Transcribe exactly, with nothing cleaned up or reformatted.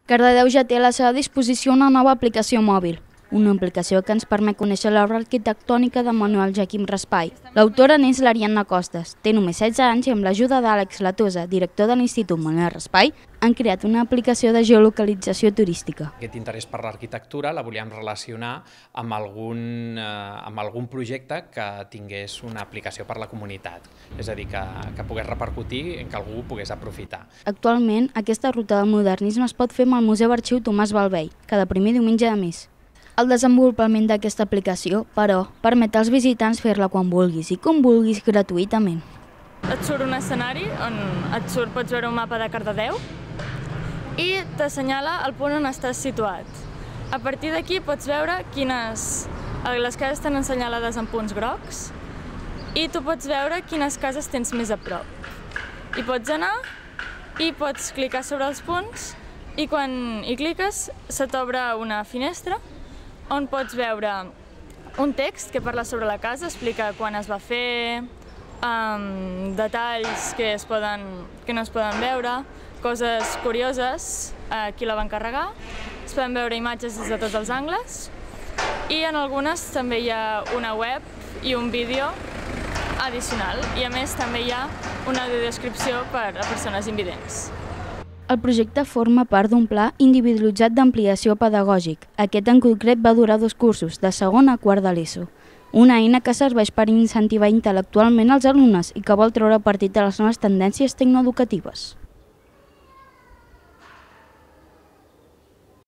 Cardedeu ja té a la seva disposició una nova aplicació mòbil, una aplicació que ens permet conèixer l'obra arquitectònica de Manuel Joaquim Raspall. L'autora n'és l'Ariadna Costes. Té només setze anys i amb l'ajuda d'Àlex Latosa, director de l'Institut Manuel Raspall, han creat una aplicació de geolocalització turística. Aquest interès per l'arquitectura la volíem relacionar amb algun, eh, amb algun projecte que tingués una aplicació per la comunitat, és a dir, que, que pogués repercutir en que algú ho pogués aprofitar. Actualment, aquesta ruta del modernisme es pot fer amb el Museu Arxiu Tomàs Balvei, cada primer diumenge de mes. El desenvolupament d'aquesta aplicació, però, permet als visitants fer-la quan vulguis i com vulguis gratuïtament. Et surt un escenari on et surt, pots veure un mapa de Cardedeu i t'assenyala el punt on estàs situat. A partir d'aquí pots veure quines... Les cases estan assenyalades en punts grocs i tu pots veure quines cases tens més a prop. I pots anar i pots clicar sobre els punts i quan hi cliques se t'obre una finestra on pots veure un text que parla sobre la casa, explica quan es va fer, um, detalls que, es poden, que no es poden veure, coses curioses, uh, qui la va encarregar, es poden veure imatges des de tots els angles i en algunes també hi ha una web i un vídeo addicional i a més també hi ha una audiodescripció per a persones invidents. El projecte forma part d'un pla individualitzat d'ampliació pedagògic. Aquest en concret va durar dos cursos, de segon a quart de l'ESO. Una eina que serveix per incentivar intel·lectualment els alumnes i que vol treure partit de les noves tendències tecnoeducatives.